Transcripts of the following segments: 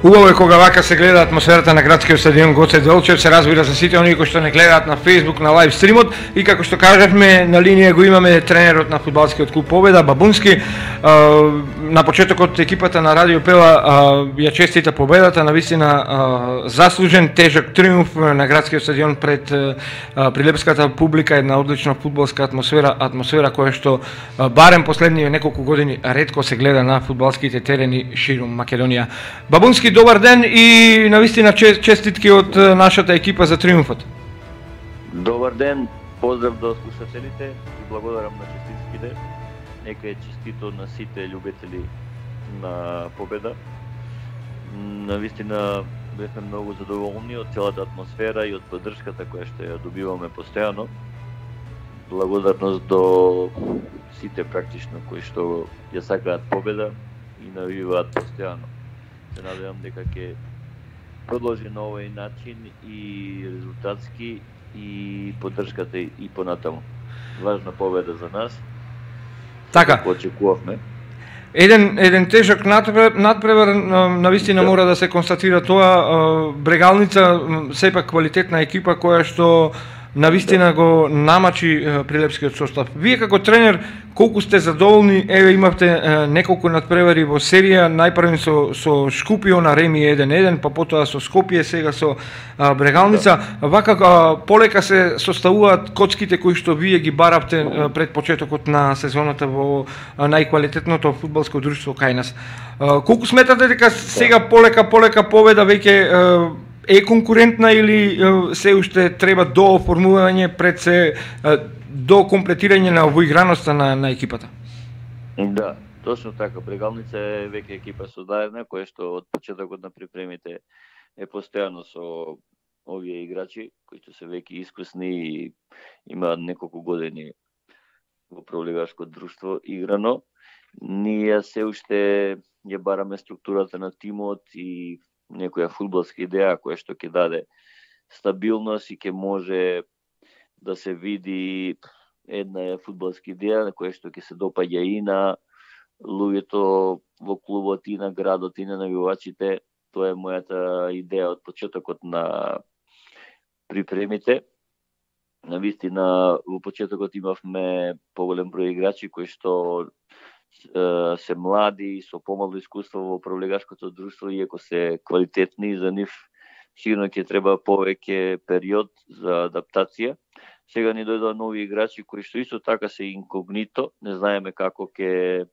Убаво е кога вака се гледа атмосферата на градскиот стадион Гоце Делчев, се разбира за сите оние кои што не гледаат на Facebook, на лайв стримот, и како што кажавме, на линија го имаме тренерот на фудбалскиот клуб Победа, Бабунски. На почетокот екипата на Радио Пела ја честита победата, навистина заслужен тежок триумф на градскиот стадион пред прилепската публика, една одлична фудбалска атмосфера која што барем последниве неколку години ретко се гледа на фудбалските терени ширум Македонија. Бабунски, добар ден и навистина честитки од нашата екипа за триумфот. Добар ден, поздрав до слушателите и благодарам на честитките. Нека е честито на сите љубители на Победа. Навистина бевме многу задоволни од целата атмосфера и од поддршката која што ја добиваме постојано. Благодарност до сите практично кои што ја сакаат победа и навиваат постојано. Се надевам дека ќе продолжи на овој начин и резултатски и поддршката и понатаму. Важна победа за нас. Така. Очекувавме. Еден тежок надпревар, навистина мора да се констатира тоа. Брегалница сепак квалитетна екипа која што навистина го намачи прилепскиот состав. Вие како тренер колку сте задоволни? Еве имавте неколку надпревари во серија, најпрвен со Шкупио на Реми 1-1, па потоа со Скопје, сега со Брегалница. Вака полека се составуваат коцките кои што вие ги баравте пред почетокот на сезоната во најквалитетното фудбалско друштво кај нас. Колку сметате дека сега полека Победа веќе е конкурентна или се уште треба до оформување пред се до комплетирање на воиграноста на екипата? Да, точно така. Брегалница е веќе екипа создадена, која што од почетокот на припремите е постојано со овие играчи, кои што се веќе искусни и имаат неколку години во пролигарско друштво играно. Ние се уште ја бараме структурата на тимот и некоја фудбалска идеја која што ќе даде стабилност и ќе може да се види една фудбалска идеја на која што ќе се допаѓа и на луѓето во клубот, и на градот, и на навивачите. Тоа е мојата идеја од почетокот на припремите. Навистина во почетокот имавме поголем број играчи кои што се млади, со помало искуство во пролигарското друштво, иако се квалитетни, за нив сигурно ќе треба повеќе период за адаптација. Сега ни дојдоа нови играчи кои што исто така се инкогнито, не знаеме како ќе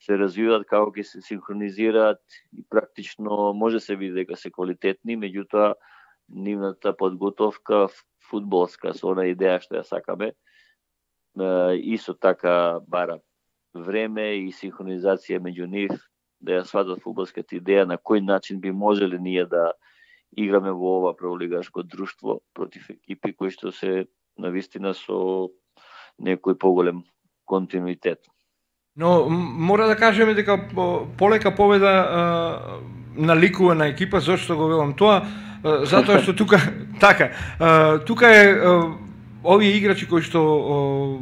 се развиваат, како ќе се синхронизираат и практично може се види дека се квалитетни, меѓутоа нивната подготовка фудбалска со она идеја што ја сакаме исто така бара време и синхронизација меѓу нив, да ја сватат фудбалската идеја на кој начин би можеле ние да играме во ова пролигарско друштво против екипи кои што се навистина со некој поголем континуитет. Но мора да кажеме дека полека Победа наликува на екипа. Зошто го велам тоа? Затоа што тука е овие играчи кои што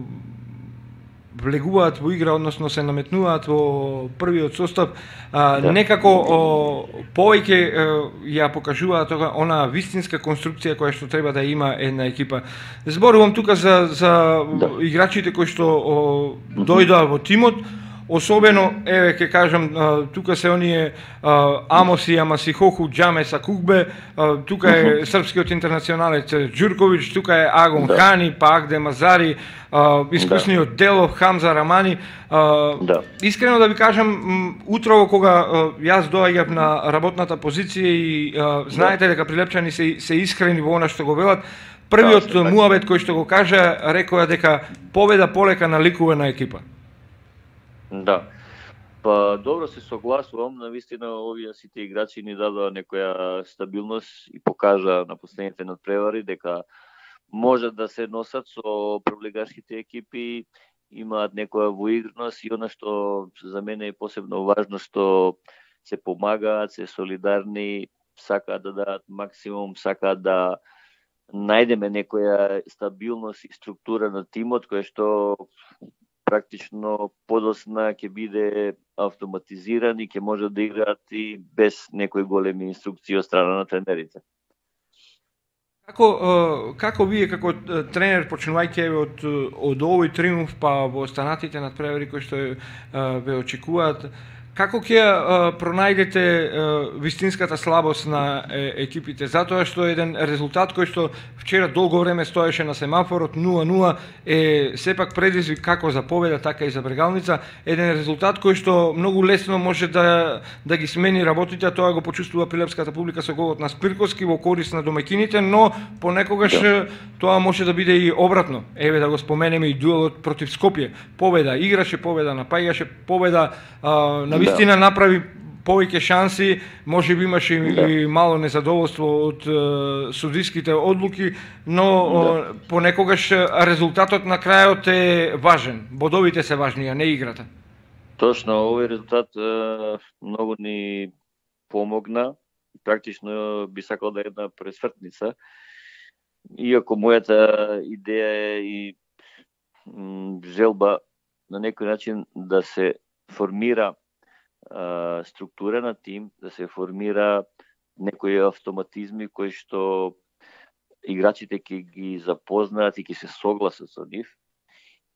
влегуваат во игра, односно се наметнуваат во првиот состав, некако повеќе ја покажуваат тоа она вистинска конструкција која што треба да има една екипа. Зборувам тука за играчите кои што дојдоа во тимот. Особено, еве ќе кажам, тука се оние Амоси, Амасихоху, Џаме Сакугбе, тука е српскиот интернационалец Ѓурковиќ, тука е Агон Хани, па Агде Мазари, искусниот Делов, Хамза Рамани. Искрено да ви кажам, утрово кога јас доаѓав на работната позиција и знаете дека прилепчани се искрени во она што го велат, првиот муабет кој што го кажа, рекоа дека Победа полека наликува на екипа. Да. Па добро, се согласувам, навистина овие сите играчи ни дадоа некоја стабилност и покажа на последните надпревари дека можат да се носат со пролигарските екипи, имаат некоја воиграност и она што за мене е посебно важно, што се помагаат, се солидарни, сакаат да дадат максимум, сакаат да најдеме некоја стабилност и структура на тимот која што практично подосна ќе биде автоматизиран и ќе може да играат и без некои големи инструкции од страна на тренерите. Како вие како тренер, почнувајќи од овој триумф па во останатите надпревари кои што ве очекуваат, како ќе пронајдете вистинската слабост на екипите, затоа што еден резултат кој што вчера долго време стоеше на семафорот 0-0 е сепак предизвик како за Победа, така и за Брегалница, еден резултат кој што многу лесно може да ги смени работите, а тоа го почувствува прилепската публика со голот на Спирковски во корист на домаќините, но понекогаш тоа може да биде и обратно. Еве да го споменеме и дуелот против Скопје. Победа играше, Победа напаѓаше, Победа навистина направи повеќе шанси, може би имаше и мало незадоволство од судиските одлуки, но понекогаш резултатот на крајот е важен. Бодовите се важни, а не играта. Точно, овој резултат многу ни помогна. Практично би сакал да е една пресвртница. Иако мојата идеја е и желба на некој начин да се формира структура на тим, да се формира некои автоматизми кои што играчите ќе ги запознаат и ќе се согласат со нив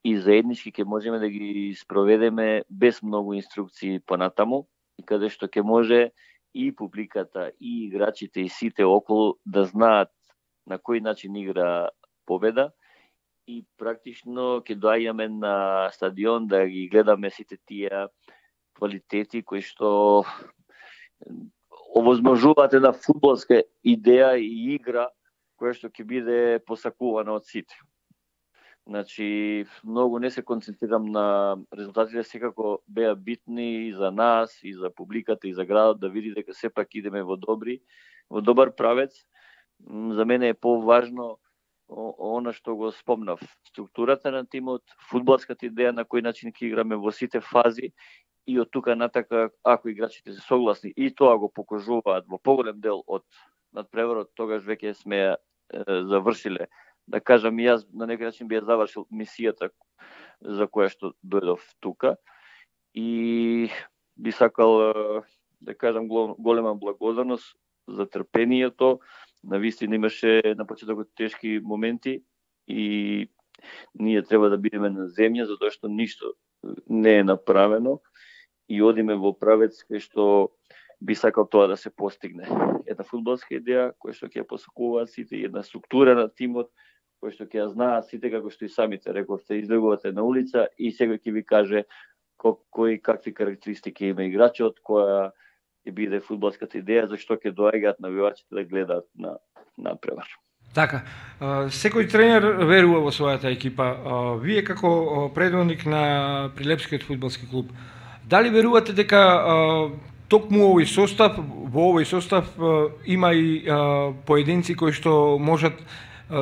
и заеднички ќе можеме да ги спроведеме без многу инструкции понатаму и каде што ќе може и публиката, и играчите, и сите околу да знаат на кој начин игра Победа и практично ќе доаѓаме на стадион да ги гледаме сите тие квалитети кои што овозможуваат една фудбалска идеја и игра која што ќе биде посакувана од сите. Значи, многу не се концентрирам на резултатите, секако беа битни и за нас, и за публиката, и за градот, да види дека сепак идеме во добар правец. За мене е поважно она што го спомнав. Структурата на тимот, фудбалската идеја на кој начин ќе играме во сите фази и од тука натака, ако играчите се согласни и тоа го покажуваат во поголем дел од надпреварот, тогаш веќе сме завршиле. Да кажам, јас на некој начин би ја завршил мисијата за која што дојдов тука и би сакал да кажам голема благодарност за трпението. Навистина имаше на почетокот тешки моменти и ние треба да бидеме на земја затоа што ништо не е направено и одиме во правец кај што би сакал тоа да се постигне. Една фудбалска идеја која што ќе ја посакуваат сите, една структура на тимот која што ќе ја знаат сите, како што и самите рековте, излегувате на улица и секој ќе ви каже кои какви карактеристики има играчот, која ќе биде фудбалската идеја, зашто ќе доаѓаат навивачите да гледаат на надпревар. Така, секој тренер верува во својата екипа. Вие како предводник на Прилепскиот фудбалски клуб, дали верувате дека токму во овој состав има и поединци кои што можат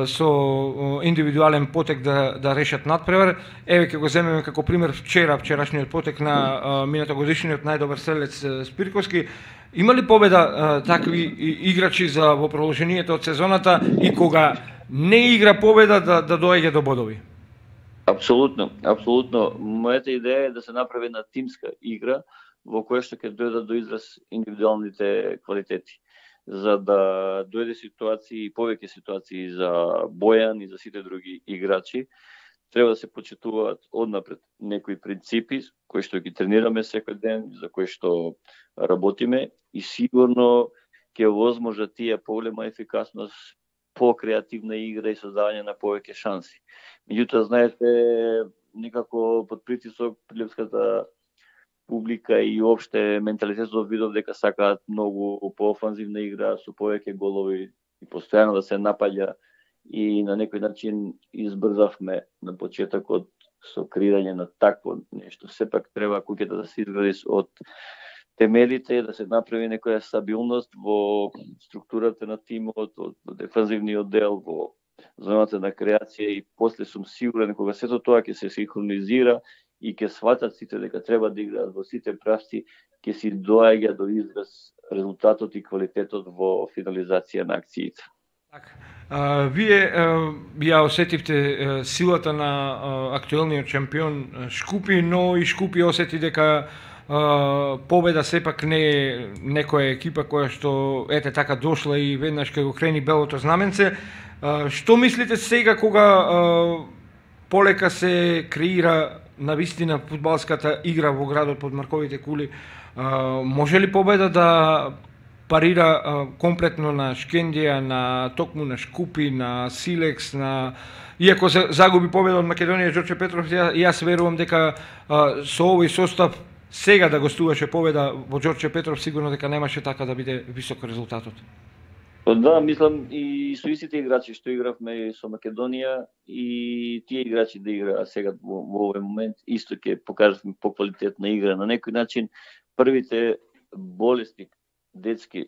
со индивидуален потек да решат надпревар? Еве ќе го земеме како пример вчерашниот потек на минатогодишниот најдобар стрелец Спирковски. Има ли Победа такви играчи за во продолжението од сезоната и кога не игра Победа да доаѓа до бодови? Апсолутно. Мојата идеја е да се направи една тимска игра во која што ќе дојдат до израз индивидуалните квалитети, за да дојде ситуации, повеќе ситуации за Бојан и за сите други играчи. Треба да се почитуваат однапред некои принципи кои што ги тренираме секој ден, за кои што работиме и сигурно ќе возможат тие поголема ефикасност, по-креативна игра и создавање на повеќе шанси. Меѓутоа, знаете, некако под притисок прилепската публика и опште менталитетот видов дека сакаат многу поофанзивна игра со повеќе голови и постојано да се напаѓа и на некој начин избрзавме на почетокот со креирање на такво нешто. Сепак треба куќата да се изгради од темелите, да се направи некоја стабилност во структурата на тимот, од дефанзивниот дел, во зоната на креација и после сум сигурен кога сето тоа ќе се синхронизира и ќе сватат сите дека треба да играат во сите правци, ќе си доаѓа до израз резултатот и квалитетот во финализација на акциите. Вие ја осетивте силата на актуелниот шампион Шкупи, но и Шкупи осети дека победа сепак не е некоја екипа која што ете така дошла и веднаш кога го крени белото знаменце. Што мислите сега кога полека се креира навистина фудбалската игра во градот под Марковите кули? Може ли победа да парира комплетно на Шкендија, на токму на Шкупи, на Силекс, на иако загуби победа од Македонија Ѓорче Петров, јас верувам дека со овој состав сега да гостуваше победа во Ѓорче Петров, сигурно дека немаше така да биде висок резултатот. Да, мислам и со истите играчи што игравме со Македонија и тие играчи да играат сега во овој момент, исто ќе покажат поквалитетна игра. На некој начин првите болести детски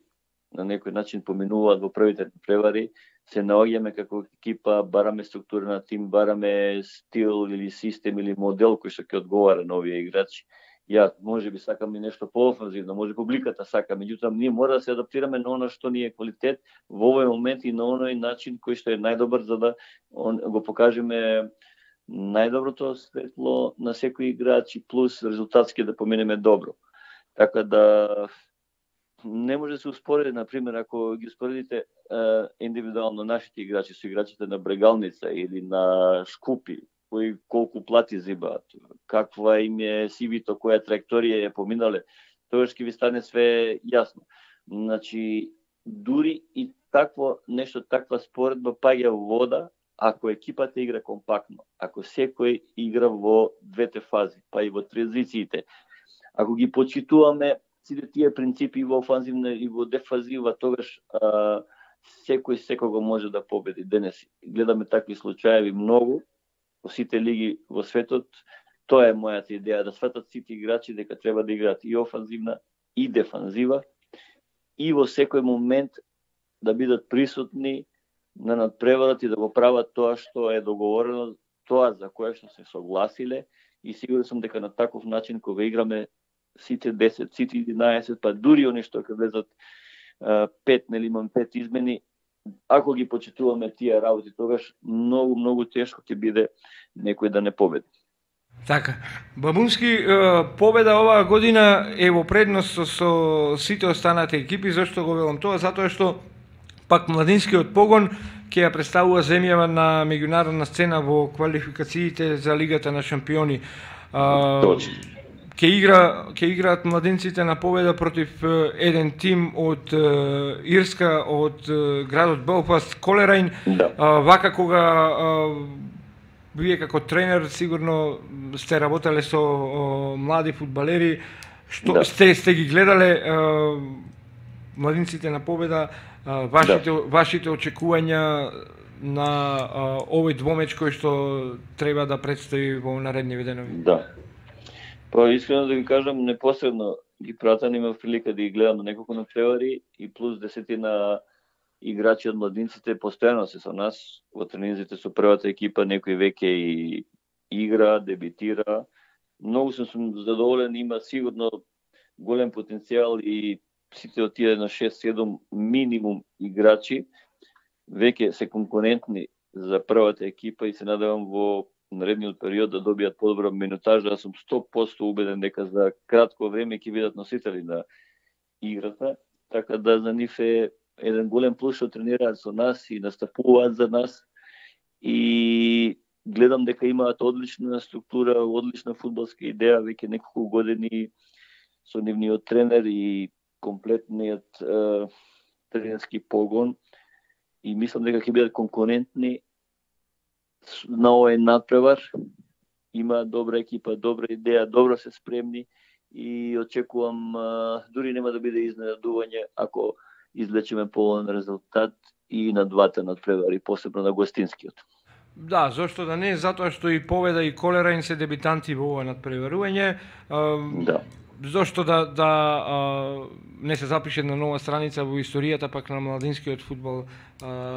на некој начин поминуваат во првите превари, се наоѓаме како екипа, бараме структура на тим, бараме стил или систем или модел кој што ќе одговара на овие играчи. Ја, може би сакам и нешто поофанзивно, може публиката сака, меѓутоа ние мора да се адаптираме на она што ни е квалитет во овој момент и на оној начин кој што е најдобар за да го покажеме најдоброто светло на секој играч и плюс резултатски да поминеме добро. Така да не може да се успореди, например, ако ги успоредите индивидуално нашите играчи со играчите на Брегалница или на Шкупи, кои колку плати зибаат, каква им е CV-то, која траекторија е поминале, тогаш ќе ви стане све јасно. Значи, дури и такво нешто, таква споредба паѓа во вода, ако екипата игра компактно, ако секој игра во двете фази, па и во транзициите, ако ги почитуваме сите тие принципи во офанзивна и во дефанзива, тогаш секој секого може да победи. Денес гледаме такви случаи многу во сите лиги во светот. Тоа е мојата идеја, да сватат сите играчи дека треба да играат и офанзивна и дефанзива и во секој момент да бидат присутни на надпреварот и да го прават тоа што е договорено, тоа за кое што се согласиле, и сигурен сум дека на таков начин кога играме сите 10, сите 11, па дури они што ќе влезат 5, нели имам 5 измени, ако ги почитуваме тие работи, тогаш многу тешко ќе биде некој да не победи. Така, Бабунски, победа оваа година е во предност со сите останати екипи. Зашто го велам тоа? Затоа што пак младинскиот погон ќе ја представува земјава на меѓународна сцена во квалификациите за Лигата на шампиони. Точно. Ќе играат младинците на победа против еден тим од Ирска, од градот Белфаст, Колерајн. Да. Вака кога вие како тренер сигурно сте работеле со млади фудбалери, што да. сте ги гледале младинците на победа, вашите очекувања на овој двомеч кој што треба да предстои во наредни денови? Да. Па искрено да ви кажам, непосредно ги пратам, имав прилика да ги гледам на неколку надпревари и плюс 10 играчи од младинците постојано се со нас во тренинзите со првата екипа, некој веќе и игра, дебитира. Многу сум задоволен, има сигурно голем потенцијал и сите од тие на 6-7 минимум играчи веќе се конкурентни за првата екипа и се надевам во наредниот период да добијат подобра минутажа. Јас сум 100% убеден дека за кратко време ќе бидат носители на играта, така да за нив е еден голем плюс што тренираат со нас и настапуваат за нас, и гледам дека имаат одлична структура, одлична фудбалска идеја веќе неколку години со нивниот тренер и комплетниот тренерски погон, и мислам дека ќе бидат конкурентни на овој надпревар. Има добра екипа, добра идеја, добро се спремни и очекувам дури нема да биде изненадување ако извлечеме полен резултат и на двата надпревари, посебно на гостинскиот. Да, зошто да не, затоа што и Победа и Колерајн се дебитанти во ова надпреварување. Да. Зошто да не се запише на нова страница во историјата пак на младинскиот фудбал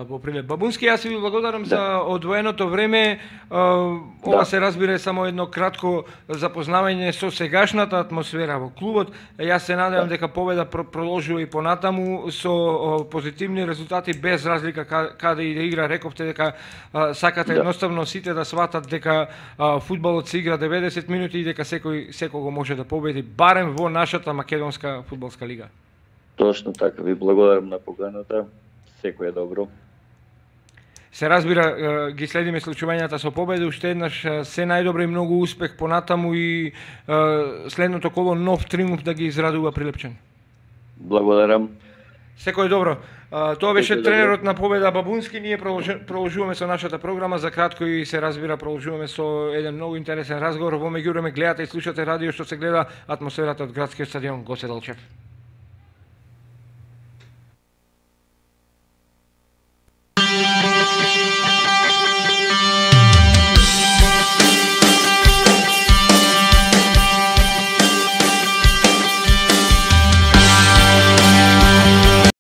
во Прилеп. Бабунски, јас ви благодарам за одвоеното време. Ова се разбира само едно кратко запознавање со сегашната атмосфера во клубот. Јас се надевам дека победа продолжува и понатаму со позитивни резултати без разлика каде и да игра. Рековте дека сакате едноставно сите да сватат дека фудбалот се игра 90 минути и дека секого може да победи барем во нашата македонска фудбалска лига. Точно така, ви благодарам на поканата. Секој е добро. Се разбира, ги следиме случувањата со победа, уште еднаш се најдобро и многу успех понатаму и следното коло нов триумф да ги израдува Прилепчани. Благодарам. Секој добро. Тоа беше тренерот на Победа Бабунски. Ние продолжуваме со нашата програма. За кратко и се разбира продолжуваме со еден многу интересен разговор. Во меѓувреме гледате и слушате радио што се гледа атмосферата од градскиот стадион Гоце Делчев.